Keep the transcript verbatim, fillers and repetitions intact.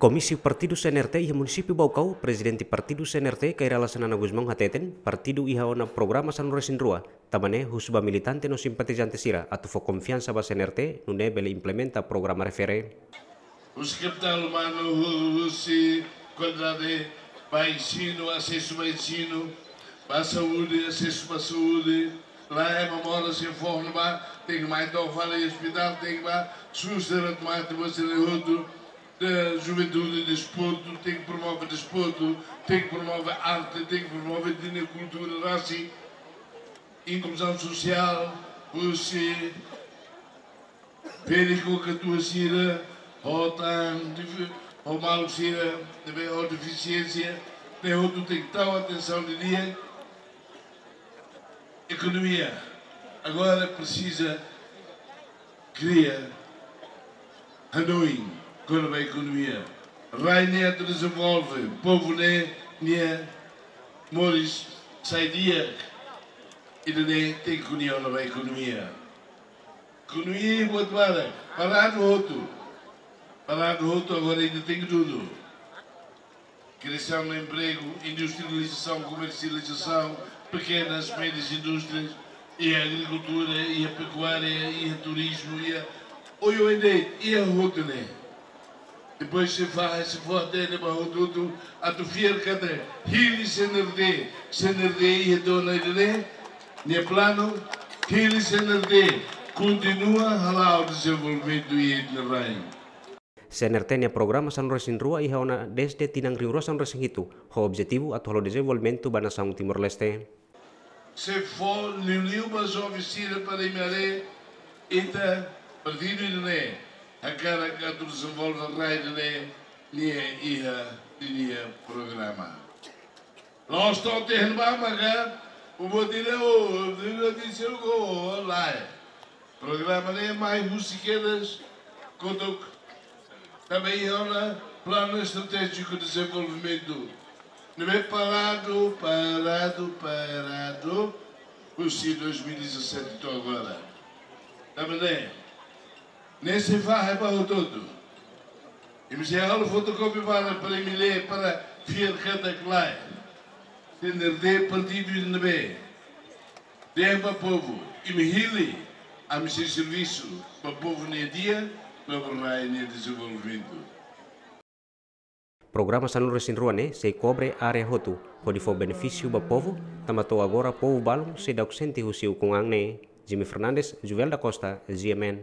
Komísiu Partidu C N R T iha Munisípiu Baucau, Prezidente Partidu C N R T, Kay Rala Xanana Gusmão hateten, partidu iha ona programa sanulu-resin-rua, tanba ne'e husu ba militante no simpatizante sira atu fó konfiansa ba C N R T, nune'e bele implementa programa refere. Husi kapitál umanu, hu-, husi kualidade ba ensinu, asesu ba ensinu, ba saúde, asesu ba saúde, lae, ema moras iha foho ne'ebá, tenke mai to'o fali ospitál, tenke ba SUS, diretu mate, ba sira hotu, de juventude, desportu, tenke promove desportu, tenke promove arte, tenke promove ninia kultura rasik, inkluzaun sosiál, husi perifériku, katuas sira, ho tan, difi-, ho maluk sira ne'ebé ho defisiénsia, ne'e hotu tenke tau atensaun didi'ak. Ekonomia, agora presiza kria hanoin kona-ba ekonomia. Rai ne'e atu dezenvolve, povu ne'e nia moris sai di'ak, ida-ne'e tenke ko'alia kona-ba ekonomia. Ekonomia buat barak, paradu hotu. Paradu hotu, agora ita tenke dudu. Kriasaun empregu, industrializasaun, komersializasaun, pekenas, médias indústrias, iha agrikultura, iha pekuária, iha turizmu, iha oioin de'it, iha hotu ne'e. Depois sei fahe, sei fó hatene ba hotu-hotu atu fiar katak hili C N R T, C N R T iha tiha ona ida-ne'e, nia planu, hili C N R T kontinua hala'o dezenvolvimentu iha ita-nia rain. C N R T nia programa sanulu-resin-rua iha ona dezde tinan rihun rua sanulu-resin-hitu, ho objetivu atu halo dezenvolvimentu ba nasaun Timor-Leste. Sei fó liuliu ba joven sira para imi haree, ita partidu ida-ne'e hakarak atu dezenvolve rai ida-ne'e, nia iha ninia programa. La'ós to'o tiha ne'ebá maka, o botire o, o botire o, o, lae. Programa ne'e mai husi kedas kotuk, tanba iha ona planu estratéjiku dezenvolvimentu ne'ebé paradu, paradu, paradu, husi dois mil e dezassete to'o agora. Tanba ne'e, ne'e sei fahe ba hotu-hotu. Imi sei halo fotokópia para, para imi lee, para fiar katak lae, C N R T partidu ida ne'ebé dehan ba povu, imi hili, ami sei servisu ba povu nia di'ak, no ba rai nia dezenvolvimentu. Programa sanulu-resin-rua ne'e sei kobre área hotu, hodi fó benefísiu ba povu, tanba to'o agora povu balun seidauk sente husi ukun-an ne'e. Jimmy Fernandes, Juvel da Costa, G M N.